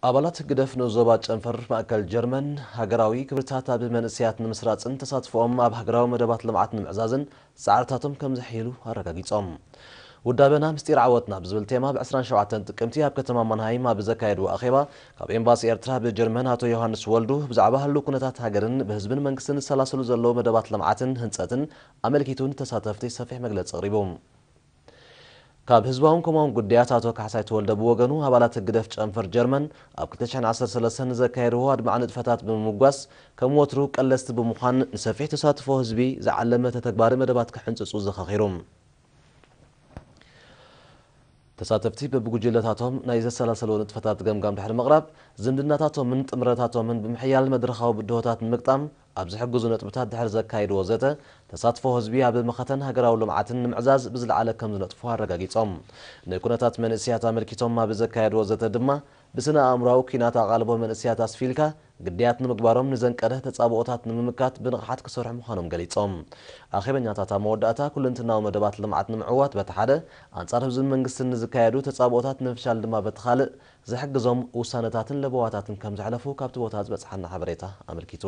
ኣባላት ህግደፍ ንዞባ ጨንፈር ማእከል ጀርመን ሃገራዊ ክብርታት ኣብ መንእሰያት ንምስራጽን ተሳትፎኦም ኣብ ሃገራዊ መደባት ልምዓት ንምዕዛዝን ጻዕርታቶም ከም ዘሕይሉ ኣረጋጊጾም። ውዳበና ምስጢር ዓወትና ብዝብል ቴማ ብ ዕስራን ሸውዓተን ጥቅምቲ ኣብ ከተማ ማንሃይም ኣብ ዘካየድዎ ኣኼባ፣ ካብ ኤምባሲ ኤርትራ ብጀርመን ኣቶ ዮሃንስ ወልዱ ብዛዕባ ህልው ኩነታት ሃገርን ብህዝብን መንግስትን ዝሰላሰሉ ዘለዉ መደባት ልምዓትን ህንጸትን ኣመልኪቱ ንተሳተፍቲ ሰፊሕ መግለጺ ኣቕሪቡ። ካብ ህዝባውን ኮማውን ጉዳያት ኣቶ ካሕሳይ ተወልደ ብወገኑ፣ ኣባላት ህግደፍ ጨንፈር ጀርመን ኣብ ክልተ ሽሕን ዓሰርተ ሰለስተን ንዘካየድዎ ኣድማዒ ንጥፈታት ብምምጓስ፣ ከም ወትሩ ቀለስቲ ብምዃን ንሰፊሕ ተሳትፎ ህዝቢ ዝዓለመ ተተግባሪ መደባት ክሕንጽጹ ዘኻኺሩ። ተሳተፍቲ በብጉጅለታቶም ናይ ዘሰላሰልዎ ንጥፈታት ገምጋም ድሕሪ ምቕራብ፣ ዝምድናታቶምን ጥምረታቶምን ብምሕያል መድረኻዊ ብድሆታት ንምግጣም ኣብ ዝሕግዙ ነጥብታት ድሕሪ ዘካየድዎ ዘተ፣ ተሳትፎ ህዝቢ ኣብ መኸተን ሃገራዊ ልምዓትን ንምዕዛዝ ብዝለዓለ ከም ዝነጥፉ ኣረጋጊጾም። ንኩነታት መንእሰያት ኣመልኪቶም ኣብ ዘካየድዎ ዘተ ድማ፣ ብስነ ኣእምሮኣዊ ኲናት ኣቓልቦ መንእሰያት ኣስፊልካ ግዳያት ንምግባሮም ንዘንቀደ ተጻብኦታት ንምምካት ብንቕሓት ክሰርሑ ምዃኖም ገሊጾም። ኣኼበኛታት ኣብ መወዳእታ ኩለንትናዊ መደባት ልምዓት ንምዕዋት በቲ ሓደ፣ ኣንጻር ህዝብን መንግስትን ንዝካየዱ ተጻብኦታት ንምፍሻል ድማ በቲ ካልእ፣ ዝሕግዞም ውሳነታትን ለበዋታትን ከም ዘሕለፉ ካብቲ ቦታ ዝበጽሓና ሓበሬታ ኣመልኪቱ።